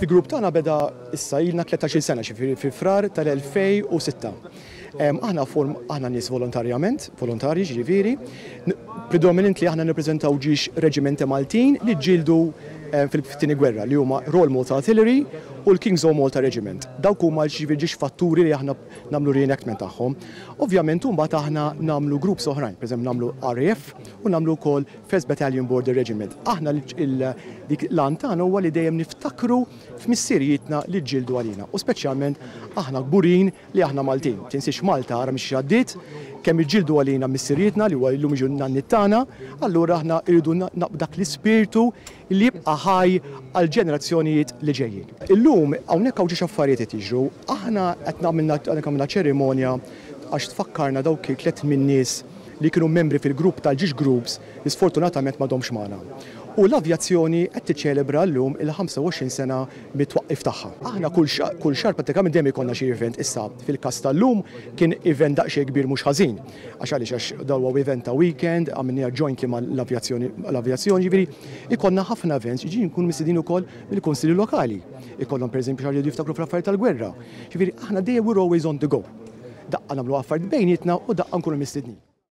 Il-grupp tagħna beda issa ilna 13-il sena, ġifieri fi Frar tal-2006. Aħna form aħna nies volontarjament, volontarji ġifieri, predominantly aħna nirrepreżentaw ġiex reġimenti Maltin li ġġieldu fil-tieni gwerra li huma Royal Malta Artillery u l-King's Own Malta Regiment. Dawk huma ġifieri ġiex fatturi li aħna nagħmlu reenactment tagħhom. Ovvjament imbagħad aħna nagħmlu groups oħrajn, pereżempju nagħmlu RAF u nagħmlu wkoll First Battalion Border Regiment. Aħna dik l-għan tagħna huwa li dejjem niftakru f'missirijietna li ġġieldu għalina u speċjalment aħna kburin li aħna Maltin. Tinsiex Malta ara minn xiex għaddiet, kemm iġġieldu għalina missirijietna li huwa llum jiġu n-nanniet tagħna, allura aħna rridu dak l-ispirtu li jibqa' ħaj għall-ġenerazzjonijiet li ġejjin. Illum hawnhekk hawn ġiex affarijiet qed jiġru. Aħna qed għamilna ċerimonja għax tfakkarna dawk il-tliet min-nies li kienu membri fil-grupp tal-ġiex groups li sfortunatament m'għadhomx magħna. U l-avjazzjoni qed tiċċelebra llum il-25 sena mit-twaqqif tagħha. Aħna kull kull xahar prattikament dejjem ikollna xi event. Issa fil-każ tal-lum kien event daqsxejn kbir mhux ħażin. Għax għaliex għax dan huwa event ta' weekend, għamilniha jointly mal-avjazzjoni l-avjazzjoni, jiġifieri ikollna ħafna events, jiġifieri nkunu mistednin ukoll mill-kunsilli lokali. Ikollhom pereżempju xi ħaġa jridu jiftakru fl-affarijiet tal-gwerra. Jiġifieri aħna dejjem we're always on the go. Daqqa nagħmlu affarijiet bejnietna u daqqa nkunu mistednin.